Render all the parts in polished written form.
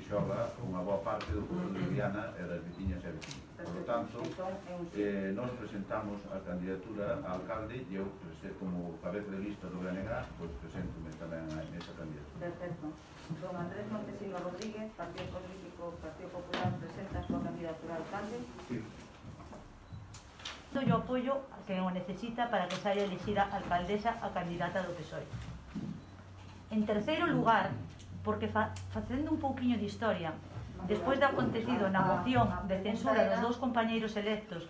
xoga unha boa parte do futuro de Viana e das veciñas e veciños. Por lo tanto, nos presentamos a candidatura a alcalde e eu, como cabeza de lista do BNG, pois preséntome tamén nesa candidatura. Perfecto. Don Andrés Montesino Rodríguez, Partido Político Partido Popular, presenta a súa candidatura a alcalde. Sí. Yo apoio que o necesita para que saia elixida alcaldesa a candidata do PSOE. En terceiro lugar, porque facendo un pouquiño de historia, despois de acontecido na moción de censura dos dous compañeiros electos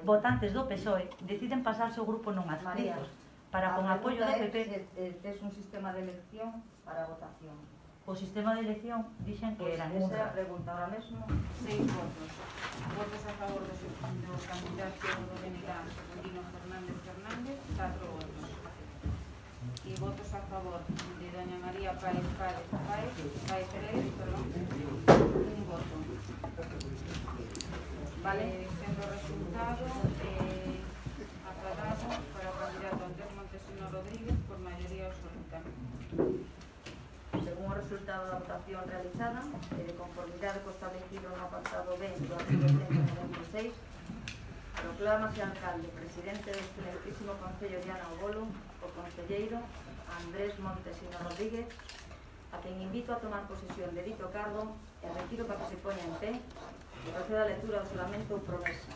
votantes do PSOE, deciden pasarse o grupo non adscritos para con apoio do PP. Es un sistema de elección para votación. O sistema de elección dixen que eran esa é a pregunta ahora mesmo. 6 votos. Votos a favor do candidato do BNG, Secundino Fernández Fernández, 4 votos. E votos a favor de doña María Páez Pérez, un voto. Vale, sendo o resultado acordado para o candidato Andrés Montesino Rodríguez por maioría absoluta. Según o resultado da votación realizada e de conformidade co establecido no apartado B do artigo 196, proclámase alcalde presidente do excelentísimo Concello de Viana do Bolo o concelleiro Andrés Montesino Rodríguez, a quen invito a tomar posesión de dito cargo e retiro para que se poña en pé e proceda a lectura do xuramento ou promesa,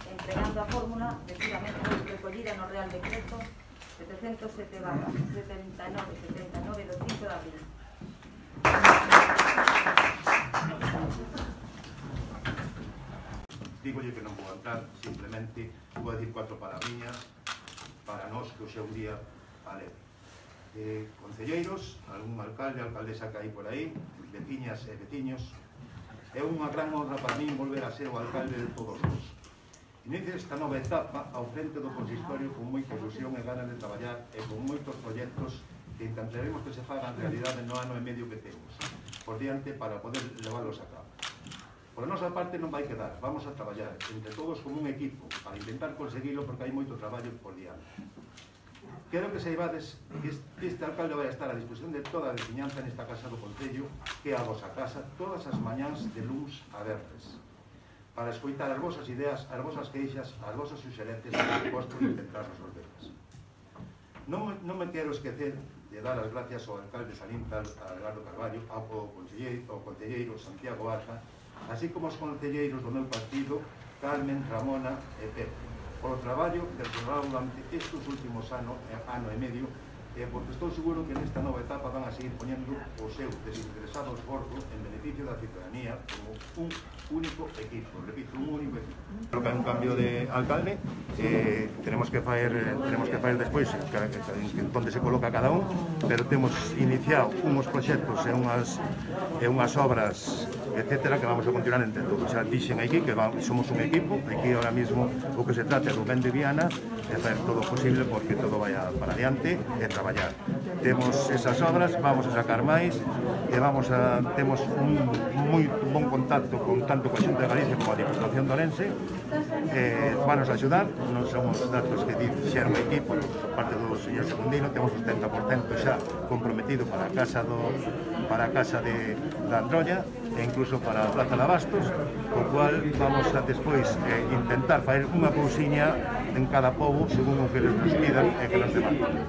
empregando a fórmula debidamente recollida no Real Decreto 707/79 do 5 de abril. Dígolle que non vou entrar, simplemente vou decir 4 palabriñas para nós que hoxe é un día alegre. Concelleiros, algún alcalde, alcaldesa que hai por aí, veciñas e veciños, é unha gran honra para min volver a ser o alcalde de todos nós. Inicio esta nova etapa ao frente do consistorio con moita ilusión e ganas de traballar e con moitos proxectos que intentaremos que se fagan realidade no ano e medio que temos por diante para poder leválos a cabo. Por a nosa parte non vai quedar, vamos a traballar entre todos como un equipo para intentar conseguilo porque hai moito traballo por diante. Quero que saibades que este alcalde vai estar a disposición de toda a veciñanza nesta casa do Concello, que é a vosa casa, todas as mañáns de luns a verdes, para escoitar as vosas ideas, as vosas queixas, as vosas suxerentes e, por suposto, intentar resolverlas. Non me quero esquecer de dar as gracias ao alcalde Salintal, a Eduardo Carballo, ao concelleiro Santiago Arja, así como aos concelleiros do meu partido, Carmen, Ramona e Pepe, polo traballo desenvolvado durante estes últimos ano e medio, porque estou seguro que nesta nova etapa van a seguir poñendo o seu desinteresado esforzo en beneficio da ciudadanía como un único equipo, repito, un único equipo. Creo que hai un cambio de alcalde, tenemos que faer despois onde se coloca cada un, pero temos iniciado uns proxectos e unhas obras, etcétera, que vamos a continuar entre todos. Xa dixen aquí que somos un equipo, aquí ahora mismo o que se trata é do ben de Viana, e facer todo o posible porque todo vaya para adiante e traballar. Temos esas obras, vamos a sacar máis e temos un moi bon contacto tanto coa Xunta de Galicia como a Diputación de Ourense, vanos a axudar, non son os datos que dixeron o equipo, por parte do señor Secundino, temos o 70% xa comprometido para a casa de Androlla e incluso para a Plaza de Abastos, co cual vamos a despois intentar fazer unha cousiña en cada pobo según o que nos pidan e que nos demandan.